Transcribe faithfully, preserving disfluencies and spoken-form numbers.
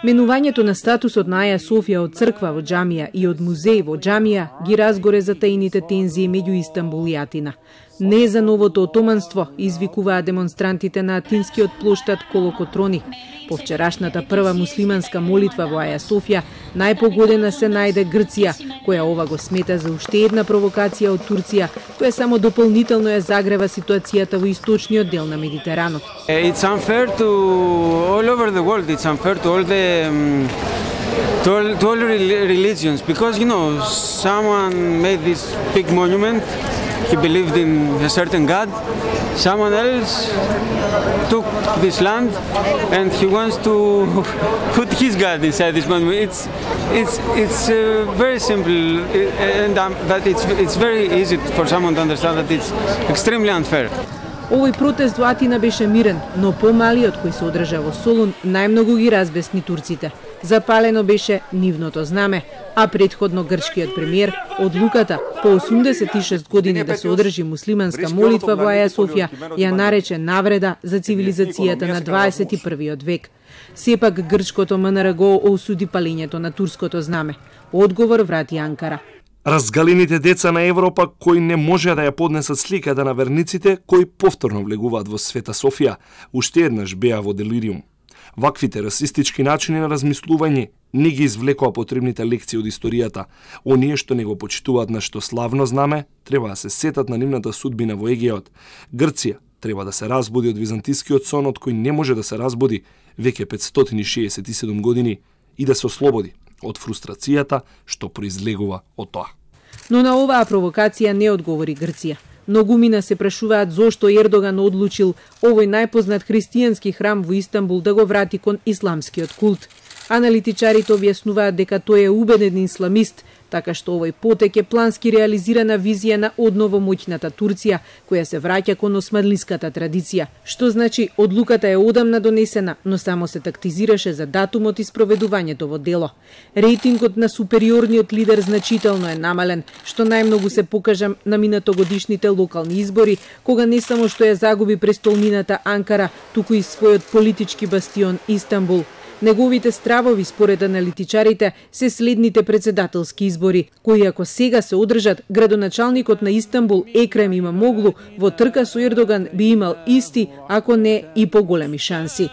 Менувањето на статусот на Аја Софија од црква во џамија и од музеј во џамија ги разгоре затаените тензии меѓу Истанбул и Атина. Не за новото отоманство, извикуваа демонстрантите на атинскиот плоштад Колокотрони. По вчерашната прва муслиманска молитва во Аја Софија, најпогодена се најде Грција, која ова го смета за уште една провокација од Турција, која само дополнително ја загрева ситуацијата во источниот дел на Медитеранот. It's unfair to all over the world. It's unfair to all the um, to all, to all religions because you know someone made this big monument. He believed in a certain God. Someone else took this land and he wants to put his God inside this monument. It's it's it's uh, very simple, and um, but it's it's very easy for someone to understand that it's extremely unfair. Овој протест во Атина беше мирен, но помалиот кој се одржа во Солун најмногу ги разбесни турците. Запалено беше нивното знаме, а претходно грчкиот премиер одлуката по осумдесет и шест години да се одржи муслиманска молитва во Аја Софија ја нарече навреда за цивилизацијата на дваесет и првиот век. Сепак грчкото М Н Р го осуди палењето на турското знаме. Одговор врати Анкара. Разгалените деца на Европа кои не може да ја поднесат сликата на верниците кои повторно влегуваат во Света Софија, уште еднаш беа во делириум. Ваквите расистички начини на размислување не ги извлекоа потребните лекции од историјата. Оние што не го почитуваат нашето славно знаме, треба да се сетат на нивната судбина во Егеот. Грција треба да се разбуди од византискиот сон од кој не може да се разбуди веќе петстотини шеесет и седум години и да се ослободи од фрустрацијата што произлегува од тоа. Но на оваа провокација не одговори Грција. Многумина се прашуваат зошто Ердоган одлучил овој најпознат христијански храм во Истанбул да го врати кон исламскиот култ. Аналитичарите објаснуваат дека тој е убеден исламист, така што овој потек е плански реализирана визија на одново моќната Турција, која се враќа кон османлиската традиција, што значи одлуката е одамна донесена, но само се тактизираше за датумот и спроведувањето во дело. Рейтингот на супериорниот лидер значително е намален, што најмногу се покажа на минатогодишните локални избори, кога не само што ја загуби престолнината Анкара, туку и својот политички бастион Истанбул. Неговите стравови, според аналитичарите, се следните председателски избори, кои ако сега се одржат, градоначалникот на Истанбул Екрем Имамоглу во трка со Ердоган би имал исти, ако не и поголеми шанси.